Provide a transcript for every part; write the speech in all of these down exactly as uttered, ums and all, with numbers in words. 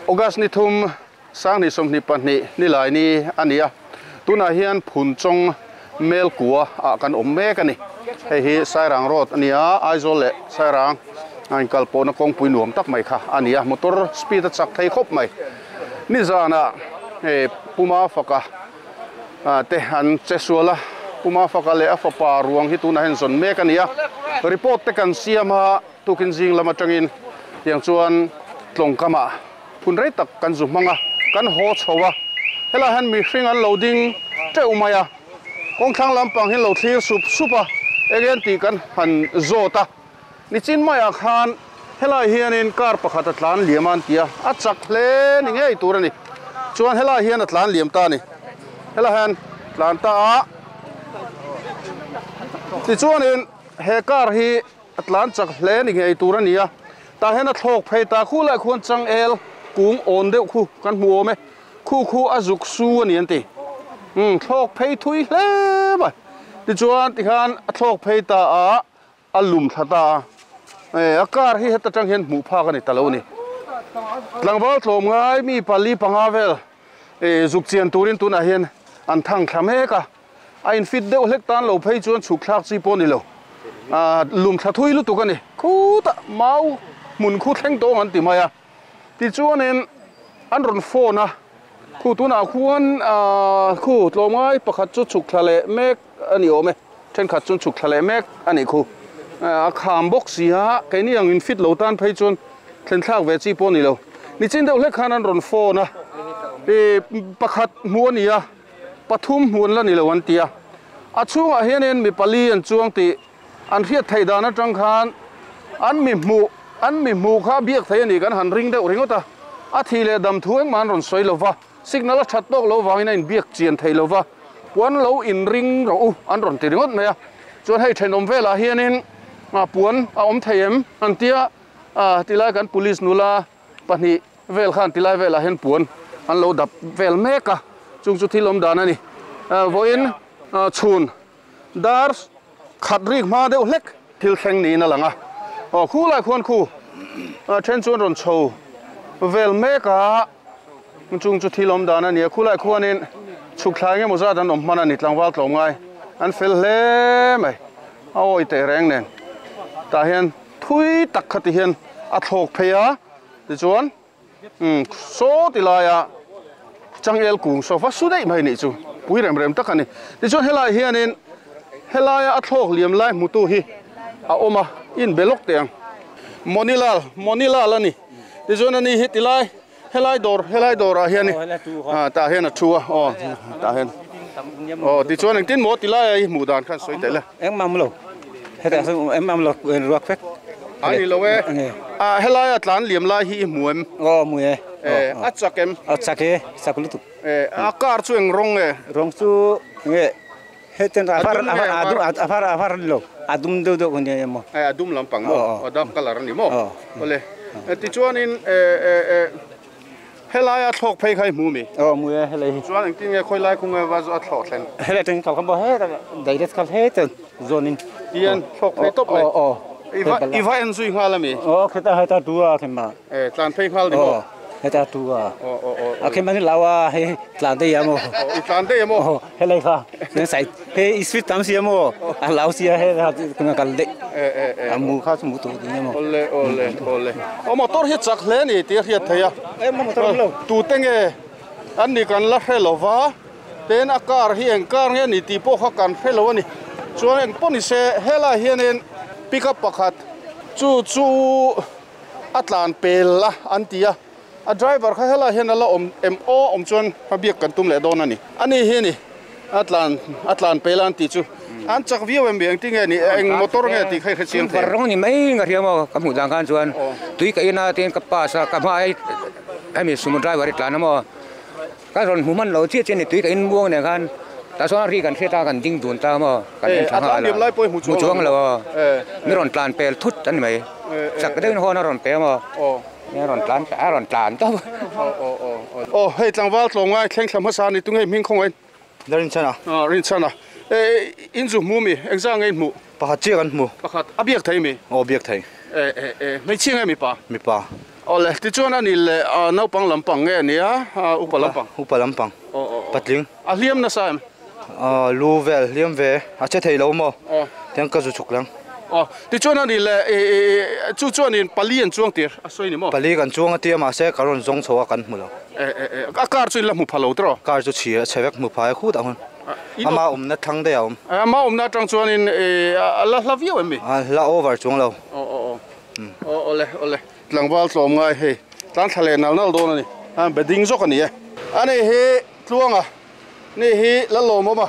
August ni thum sang ni som ni pahnih ni lai ni ania tuna hian phun chong mel kuwa a kan awm mek ani hei hi Sairang road ania Aizawl leh Sairang an kalpawhna kawngpui nuam tak mai kha ania motor speed a chak thei khawp mai ni zana e puma faka te an chesuala puma faka le a fapa ruang hi tuna hen zon mek ania report te kan siama tukin jing lama tangin tiang chuan tlongkama phun rei tak kan zu manga kan ho chhowa hela han mi hring an loading teu maya kong thlang lampang hin lo thlir sup supa again ti kan han zota nichin maya khan hela hianin car pakhat a tlan liaman tia a chak hle ni ngei tur ani chuan hela hian a tlan liam ta ni hela han tlan ta a ti chuanin he car hi a tlan chak hle ni ngei tur ani a ta hen a thlok phei ta khu lai khuan chang el kung on deuh khu kan hmu awm e khu khu a zuk su ani an ti um thlok phei thui hle mai ti chuan ti khan a thlok phei ta a a lum thla ta e a car hi heta tang hian hmuh phak ani talo ni tlangval tlawm ngai mi pali panga vel e zuk chian turin tunah hian an thang thla mek a a in fit deuh hlek tan lo phei chuan chhuk thlak chi pawh ni lo a lum thla thui lutuk ani khuta mau mun khu thleng tawng an ti mai a ti chuanin an rawn phone a khu tunah khuan a khu tlawm ngai pakhat chu chhuk thla leh mek ani awm e thenkhat chu chhuk thla leh mek ani khu a kham bawk si a keini ang in fit lo tan phei chuan thlen thlak ve chi pawh ni lo nichin deuh hlek khan an rawn phone a e pakhat hmu ani a pathum hmuan la ni lo an tia a chhungah hianin mi pali an chuang ti an hriat thei dan atang khan an mi hmu an mi hmu kha biak thei ani kan han ring deuh ringawt a a thi leh dam thu engmah an rawn sawi lova signal a that tawk lo wangin a in biak chian thei lova puan lo in ring ro u an rawn ti ringawt mai a chuan hei thenawm velah hianin a puan a awm thei em an tia a tilai kan police nula pahnih vel khan tilai velah hian puan an lo dap vel mek a chung chu thil awm dan ani vawiin chhun dar khat rik hma deuh hlek thil thleng niin a lang a aw khu lai khuan khu then chuan rawn chho vel mek a chung chu thil awm dan ani a khu lai khuanin chhuk thlai nge maw zat an awm hman ani tlangval tlawm ngai an fel hle mai a awi teh reng nen tah hian thui tak kha ti hian a thlawk phei a tichuan um saw ti laia changel kung sofa su daih mai ni chu pui rem rem tak ani tichuan helai hianin helaia a thlawk liam lai hmutu hi a awm a in belok te ang monilal monilal ani tichuan ani hi tilai helai dawr helai dawrah hian a tah hian a thu a aw tah hian aw tichuan engtin maw tilai a hi hmuh dan khan sawi theih le engmam lo heta engmam lo ruak vek ani lo e a helai a tlan liam lai hi i hmu em aw hmu e e a chak em a chak e chak lutuk e a car chu eng rawng e rawng chu nge heten afar afar adum afar afar lo adum deuh deuh ni emo e adum lampang mo a dark color ani mo ole ti chuanin e e e helai a thlawk phei khai hmu mi aw hmu e helai chuan engtin nge khoi lai khung e wa a thlawk thlen helai teng khal kham bo he direct khal he ten zonin hian thlawk phei top mai aw aw iwa iwa en zui nghal ami aw kheta heta tua khema e tlan phei nghal ni mo heta tua aw aw aw a khema ni lawa he tlan te yamo i tlan te yamo helai kha ne sai he street tam sia mo a law sia he kuna kal de e e e amu kha chu mu tu ni mo ole ole ole o motor hi chak hle ni ti hiat theia e mo motor lo tu te nge an ni kan la hrelova ten a car hi eng car nge ni ti pawh kha kan hrelo ani chuan eng pawh ni se helai hianin pickup pakhat chu chu a tlan pel la an ti a a driver kha helai hian ala awm em aw awm chuan a biak kan tum leh dawn ani ani hi ni a tlan a tlan pel an ti chu an chak viau em eng ti nge ni eng motor nge ti khai hrechiang thei rawng ni mai nga riamo ka hmuh dan khan chuan tui ka ina ten ka pass a ka hma hemi sumo driver i tlan emaw ka rawn hmu hman lo chiah chian ni tui ka in muang nen khan ta chuan ri kan hriat a kan ding dun ta emaw kan en tha nghal a hmu chuang lo mi rawn tlan pel thut ani mai chak deuhin hawn a rawn pe emaw a rawn tlan a rawn tlan tawp aw hei tlangval tlawm ngai thleng thla hmasa ni tunge hming khawng ain la rin chana a rin chana e in zu hmu mi engzah nge in hmu pakhat chiah kan hmu pakhat a biak thei mi aw biak thei e e e hmeichhia nge mi pa mi pa Ole ti chuan ani le naupang lampang nge ania upa lampang upa lampang patling a hliam na sa em a lu vel hliam ve a che thei lo maw tiang ka zu chuk lang aw ti chuan ani le chu chuan in pali an chuang tir a sawi ni maw pali kan chuang a tia mahse ka rawn zawng chho a kan hmu lo e e a car chu in la hmu pha lo tiraw car chu chhi a chhe vek hmu phai khut ang hun ama awmna thlang daih a awm ama awmna atang chuan in a la hla viau em mi a hla over chuang lo aw aw aw ole ole tlangval tlawm ngai hei tlan thla leh nal nal dawn ani a bedding zawk ani e ani hi tluanga ni hi la lawm awm a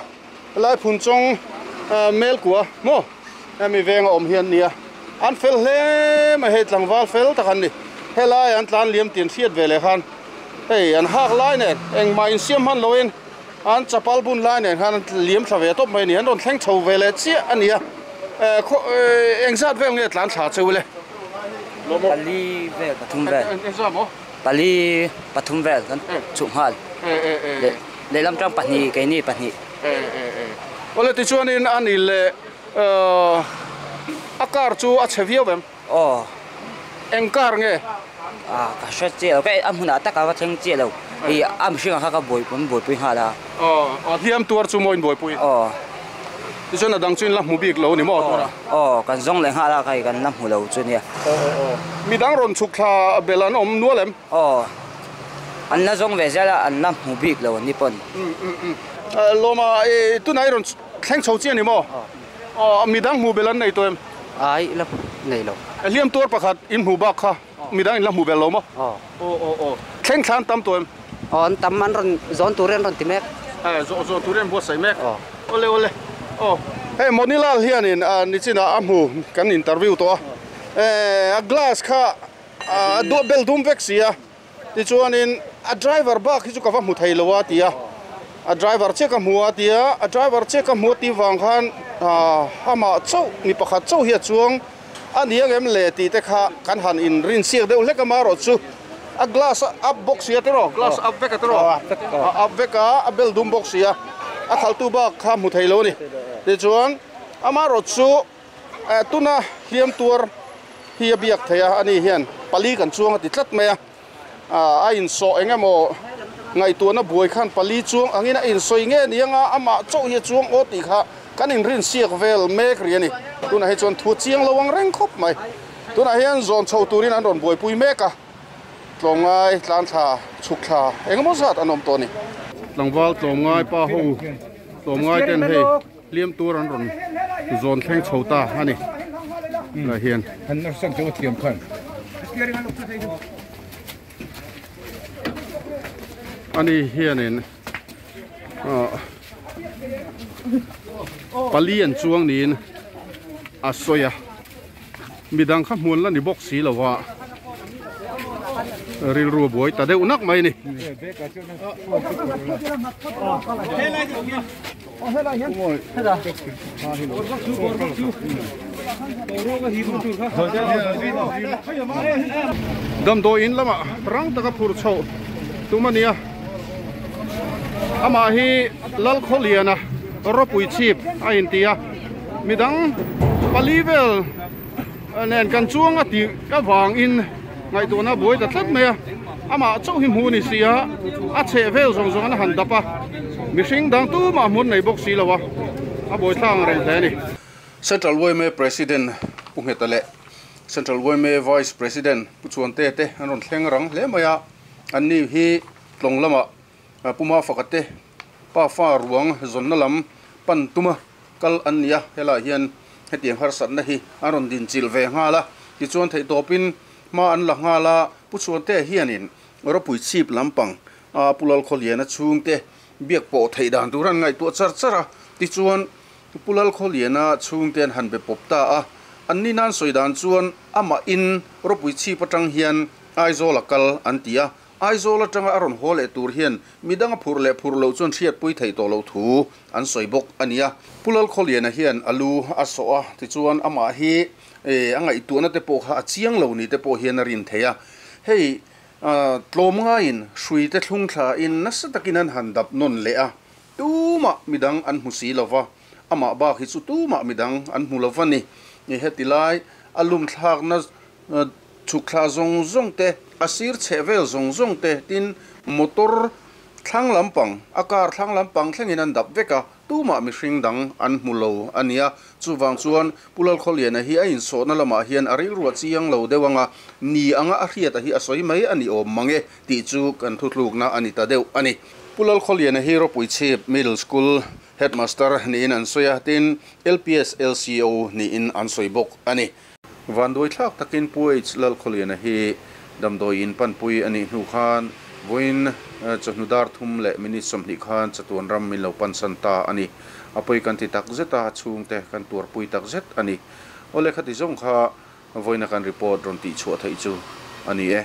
lai phun chawng mel kua maw hemi venga awm hian nia an fel hle mai hei tlangval fel tak an ni helai an tlan liam tin hriat ve leh khan hei an hak lai nen engmah insiam hman loin an chapal bun lai nen khan an liam thla ve tawp mai ani an rawn thleng chho ve leh chiah ani a engzat vel nge tlan thla cheu le pali vel pathum vel pali pathum vel kan chu ngal le le lam tang pahnih keini pahnih ole ti chuanin ani le a car chu a chhe viau em aw eng car nge a ka hre che lo ka a hmunah taka va thleng che lo i a mihringah kha ka buai pui buaipui nghal a aw aw hliam tuar chu maw in buaipui aw ti chuan a dang chu in la hmu bik lo ni maw tura aw kan zawng leh nghal a kai kan la hmu lo chu nia aw aw midang rawn chhuk thla bel an awm nual em aw an la zawng ve zel a an la hmu bik lo an ni pawn lawma tunah i rawn thleng chho chi ani maw aw midang hmu bel an nei tawh em ai la nei lo hliam tuar pakhat in hmu bak kha midang in la hmu bel lo maw aw aw aw aw thleng thlan tam tawh em aw an tam an rawn zawn turin an rawn ti mek eh zawn zawn turin an buatsaih mek aw ole ole aw hei Monilal hianin nichina a hmu kan interview tawh a eh a glass kha a bel dum vek si a tichuanin a driver bak hi chu ka va hmu thei lo a ti a a driver che ka hmu a ti a a driver che ka hmu ti wang khan ama chauh mi pakhat chauh hi a chuang ani ang em le ti te kha kan han in rin siak deuh hlek ama rawh chu a glass up box sia tiraw glass up vek a tiraw a up vek a a bel dum box sia a khaltu bak kha hmu thei lo ni tichuan ama rawh chu tuna hliam tuar hi a biak thei a ani hian pali kan chuang a ti tlat mai a a insawh engemaw ngaihtuahna buai khan pali chuang angin a insawi nge ni anga amah chauh hi a chuang aw tih kha kan inrin siak vel mek ri ani tunah hi chuan thu chiang lo ang reng khawp mai tunah hian zawn chho turin an rawn buaipui mek a tlawmngai tlan thla chhuk thla engemaw zat an awm tawh ani tlangval tlawmngai pa ho tlawmngai ten hei hliam tur an rawn zawn thleng chho ta ani lah hian ani hianin pali an chuang niin a sawi a midang kha hmuan la ni bawk si lova rilru buai ta deuh nak mai ni damdawi in lama rang taka phur chho tumania ama hi lal khawliana ropui chip a intia midang pali vel nen kan chuang a ti ka wang in ngaihtuahna buai ta tlat mai a ama chauh hi hmu ni si a a chheh vel zawng zawng an han dap a mihring dang tumah hmun nei bawk si lo a a buai thlang reng hle ani Central Y M A President Pu Ngheta leh Central Y M A Vice President Pu Chuante te an rawn thleng rang hle mai a an ni hi tlawng lama puma fakate pa fa ruang zawnna lam pan tuma kal an nia helai hian hetiang harsatna hi an rawn din chil ve nghal a tichuan theih tawpin ma an la nghal a Pu Chuante hianin ropui chip lampang a Pulal Khawliana chhungte biak pawh theih dan tur an ngaihtuah char char a tichuan Pulal Khawliana chhungte an han be pawp ta a an ni nan sawi dan chuan ama in ropui chip atang hian Aizawl a kal an ti a Aizawl atanga a rawn haw leh tur hian midang a phur leh phur lo chuan hriat pui thei tawh lo thu an sawi bawk ania Pulal Khawliana hian alu a sawh a tichuan amah hi a ngaihtuahna te pawh kha a chiang lo ni te pawh hian a rin thei a hei tlawm ngaiin hrui te thlung thla in nasa takin an han dap nawn leh a tumah midang an hmu si lova amah bak hi chu tumah midang an hmu lova ni heti lai a lum thlakna Chhuk thla zawng zawng te a sir chheh vel zawng zawng te tin motor thlang lampang a car thlang lampang thlengin an dap vek a tumah mihring dang an hmu lo a nia chuwang chuan Pu Lalkhawliana hi a insawhna lamah hian a rilru a chiang lo deuh anga ni anga a hriat a hi a sawi mai a ni awm mange tih chu kan thutlukna a ni ta deuh a ni. Pu Lalkhawliana hi Ropui Chhip Middle School Headmaster niin an sawi a tin L P S L C O niin an sawi bawk a ni. Vanduai thlak takin Pu H Lalkhawliana hi damdawi in panpui a nih hnu khan voin chawhnu dar thum leh minute sawmhnih khan chatuan ram min lo pansan ta a ni. A pawi kan ti tak zet a chhungte kan tuarpui tak zet a ni. Awle khati zawng kha voina kan report rawn tih chhuah theih chu a ni e.